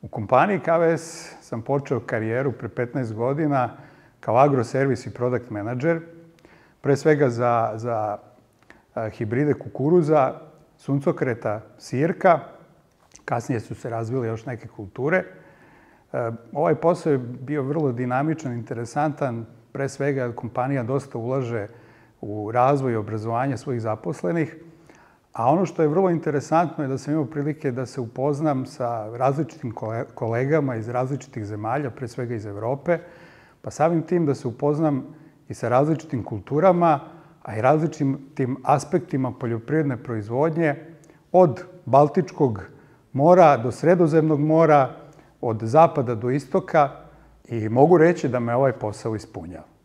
U kompaniji KVS sam počeo karijeru pre 15 godina kao agroservis i product manager, pre svega za hibride kukuruza, suncokreta, sirka. Kasnije su se razvile još neke kulture. Ovaj posao je bio vrlo dinamičan, interesantan, pre svega kompanija dosta ulaže u razvoj i obrazovanje svojih zaposlenih, a ono što je vrlo interesantno je da sam imao prilike da se upoznam sa različitim kolegama iz različitih zemalja, pre svega iz Evrope, pa samim tim da se upoznam i sa različitim kulturama, a i različitim aspektima poljoprivredne proizvodnje, od Baltičkog mora do Sredozemnog mora, od zapada do istoka, i mogu reći da me ovaj posao ispunjava.